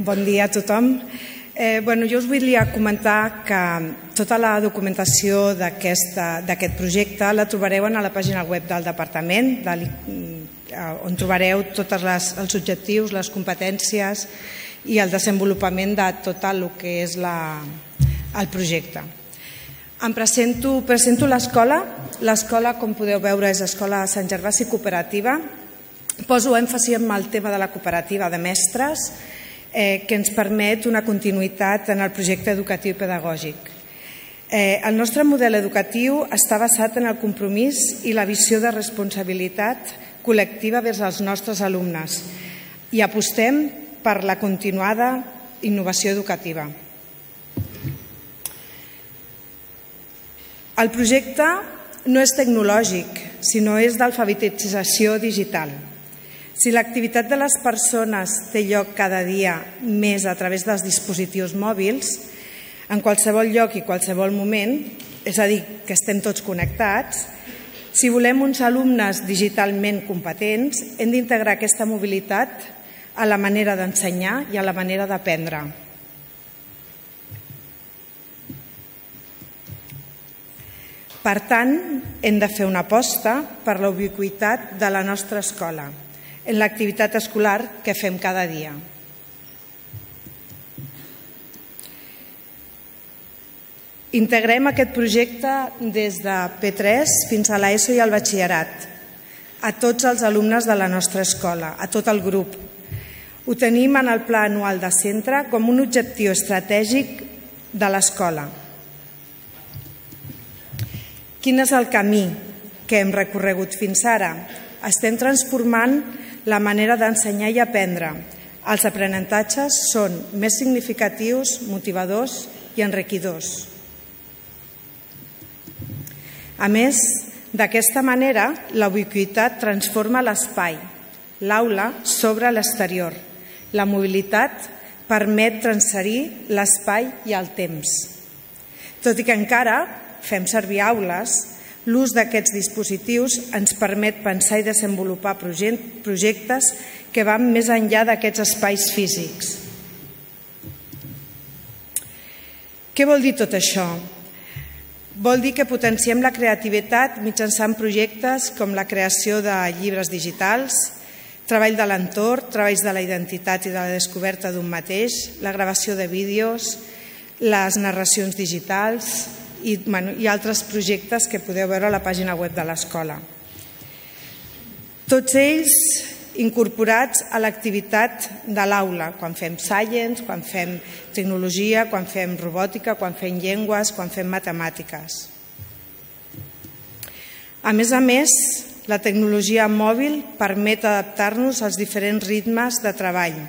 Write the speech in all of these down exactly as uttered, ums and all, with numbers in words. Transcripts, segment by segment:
Bon dia a tothom. Eh, bueno, jo us volia comentar que tota la documentació d'aquest projecte la trobareu a la pàgina web del departament, de, on trobareu tots els objectius, les competències i el desenvolupament de tot el que és la, el projecte. Em presento, presento l'escola. L'escola, com podeu veure, és l'Escola Sant Gervasi Cooperativa. Poso èmfasi en el tema de la cooperativa de mestres, eh, que ens permet una continuïtat en el projecte educatiu i pedagògic. Eh, el nostre model educatiu està basat en el compromís i la visió de responsabilitat col·lectiva vers els nostres alumnes i apostem per la continuada innovació educativa. El projecte no és tecnològic, sinó és d'alfabetització digital. Si l'activitat de les persones té lloc cada dia més a través dels dispositius mòbils, en qualsevol lloc i qualsevol moment, és a dir, que estem tots connectats, si volem uns alumnes digitalment competents, hem d'integrar aquesta mobilitat a la manera d'ensenyar i a la manera d'aprendre. Per tant, hem de fer una aposta per la ubiquitat de la nostra escola en l'activitat escolar que fem cada dia. Integrem aquest projecte des de P tres fins a l'ESO i al batxillerat, a tots els alumnes de la nostra escola, a tot el grup. Ho tenim en el pla anual de centre com un objectiu estratègic de l'escola. Quin és el camí que hem recorregut fins ara? Estem transformant la manera d'ensenyar i aprendre. Els aprenentatges són més significatius, motivadors i enriquidors. A més, d'aquesta manera, la ubiquitat transforma l'espai, l'aula sobre l'exterior. La mobilitat permet transferir l'espai i el temps. Tot i que encara fem servir aules, l'ús d'aquests dispositius ens permet pensar i desenvolupar projectes que van més enllà d'aquests espais físics. Què vol dir tot això? Vol dir que potenciem la creativitat mitjançant projectes com la creació de llibres digitals, treball de l'entorn, treballs de la identitat i de la descoberta d'un mateix, la gravació de vídeos, les narracions digitals i, bueno, i altres projectes que podeu veure a la pàgina web de l'escola. Tots ells incorporats a l'activitat de l'aula, quan fem science, quan fem tecnologia, quan fem robòtica, quan fem llengües, quan fem matemàtiques. A més a més, la tecnologia mòbil permet adaptar-nos als diferents ritmes de treball.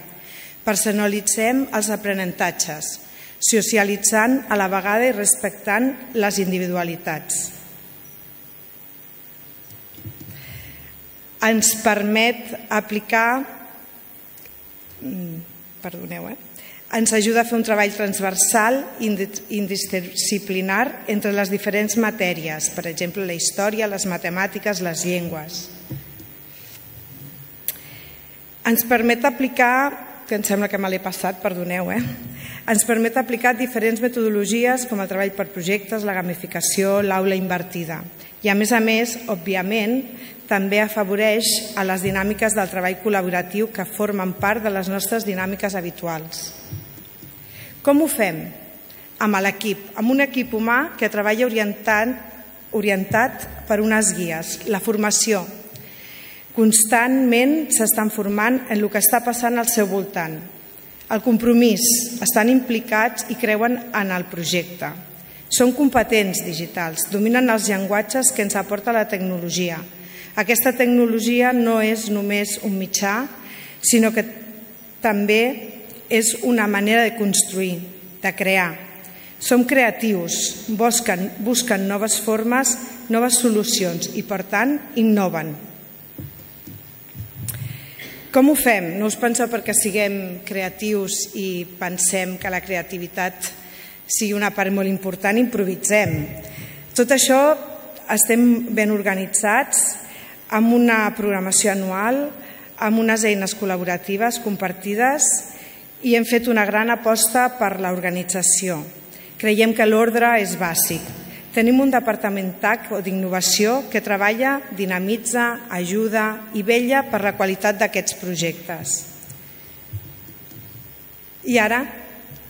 Personalitzem els aprenentatges, socialitzant a la vegada i respectant les individualitats. Ens permet aplicar, perdoneu, eh? ens ajuda a fer un treball transversal i interdisciplinar entre les diferents matèries, per exemple, la història, les matemàtiques, les llengües. Ens permet aplicar, que em sembla que me l'he passat, perdoneu, eh? ens permet aplicar diferents metodologies com el treball per projectes, la gamificació, l'aula invertida. I a més a més, òbviament, també afavoreix a les dinàmiques del treball col·laboratiu que formen part de les nostres dinàmiques habituals. Com ho fem? Amb l'equip, amb un equip humà que treballa orientat per unes guies, la formació. Constantment s'estan formant en el que està passant al seu voltant. El compromís, estan implicats i creuen en el projecte. Són competents digitals, dominen els llenguatges que ens aporta la tecnologia. Aquesta tecnologia no és només un mitjà, sinó que també és una manera de construir, de crear. Som creatius, busquen, busquen noves formes, noves solucions i, per tant, innoven. Com ho fem? No us penseu perquè siguem creatius i pensem que la creativitat sigui una part molt important, improvisem. Tot això estem ben organitzats, amb una programació anual, amb unes eines col·laboratives compartides i hem fet una gran aposta per l'organització. Creiem que l'ordre és bàsic. Tenim un departament T A C o d'innovació que treballa, dinamitza, ajuda i vetlla per la qualitat d'aquests projectes. I ara,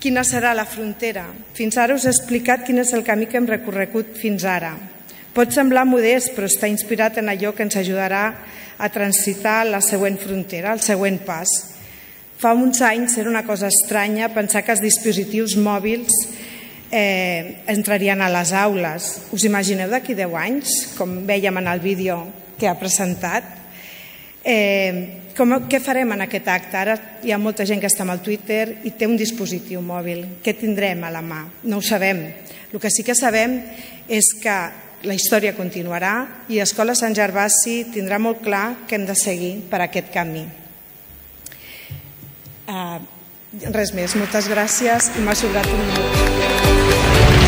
quina serà la frontera? Fins ara us he explicat quin és el camí que hem recorregut fins ara. Pot semblar modest, però està inspirat en allò que ens ajudarà a transitar la següent frontera, el següent pas. Fa uns anys era una cosa estranya pensar que els dispositius mòbils eh, entrarien a les aules. Us imagineu d'aquí deu anys, com vèiem en el vídeo que ha presentat? Eh, com, què farem en aquest acte? Ara hi ha molta gent que està amb el Twitter i té un dispositiu mòbil. Què tindrem a la mà? No ho sabem. El que sí que sabem és que la història continuarà i Escola Sant Gervasi tindrà molt clar que hem de seguir per aquest camí. Uh, res més, moltes gràcies i m'ha sobrat un minut.